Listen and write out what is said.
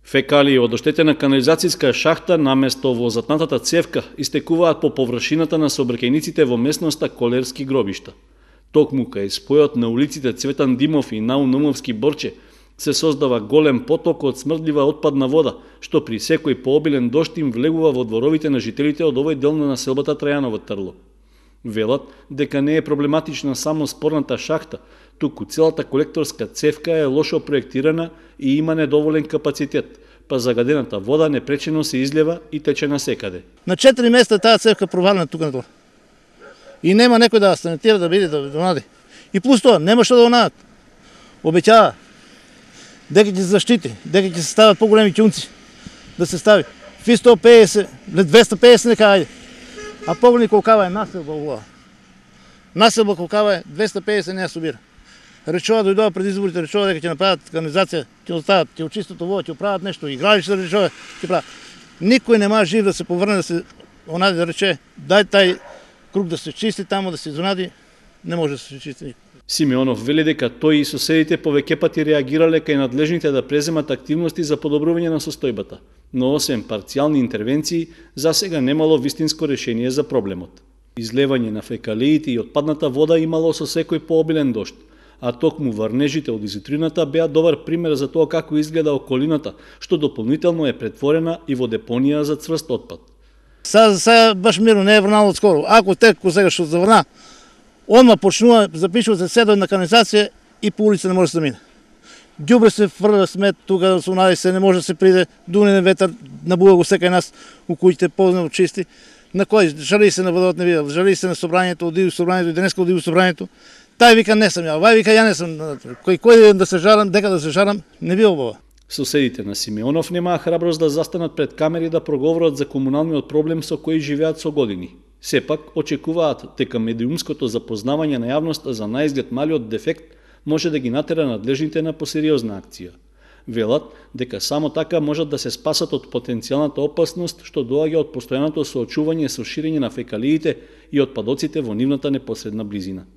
Фекалии од оштетена канализацијска шахта наместо во затнатата цевка истекуваат по површината на сообраќајниците во местноста Колерски гробишта. Токму кај спојот на улиците Цветан Димов и Наумовски Борче се создава голем поток од смрдлива отпадна вода, што при секој пообилен дожд им влегува во дворовите на жителите од овој дел на населбата Трајаново Трло. Велат дека не е проблематична само спорната шахта, туку целата колекторска цевка е лошо проектирана и има недоволен капацитет, па загадената вода непречено се излева и тече насекаде. На 4 места таа цевка провалена тука на тоа. И нема некој да санитира да биде да донади. И плюс тоа, нема што да донадат. Обеќава дека ќе се заштити, дека ќе се стават поголеми ќунци да се стави. Фи 150, 250 нека ајде. А погледни колкава е населба оваа. Населба колкава е 250 не ја собира. Речува дојдоа пред изборите, речува дека ќе направат канализација, ќе остават, ќе очистат ово, ќе прават нешто, игралиште речува, ќе прават. Никој не може жив да се поврне да се онади да рече, дај тај круг да се чисти тамо, да се изонади, не може да се чисти. Симеонов вели дека тој и соседите повеќе пати реагирале кај надлежните да преземат активности за подобрување на состојбата, но освен парцијални интервенции, засега немало вистинско решение за проблемот. Излевање на фекалиите и отпадната вода имало со секој пообилен дожд, а токму врнежите од изутрината беа добар пример за тоа како изгледа околината, што дополнително е претворена и во депонија за цврст отпад. Сега баш мирно не е врнало скоро. Ако теко сега што заврна, одма почнува, запишува се седој на канализација и по улица не може да се мине. Ѓубре се фрля смет, тука со нади се не може да се приде, дунен ветар набува го секај нас у куќите познато чисти. На кој жали се на водот не видел, жали се на собранието, оди собранието и денеска оди собранието. Тај вика не сум ја, вај вика ја не сум. Кој да се жарам, дека да се жарам, не би обава. Соседите на Симеонов немаа храброст да застанат пред камери да проговорат за комуналниот проблем со кој живеат со години. Сепак очекуваат дека медиумското запознавање на јавноста за наизглед малиот дефект може да ги натера надлежните на посериозна акција. Велат дека само така можат да се спасат од потенцијалната опасност што доаѓа од постојаното соочување со ширење на фекалиите и отпадоците во нивната непосредна близина.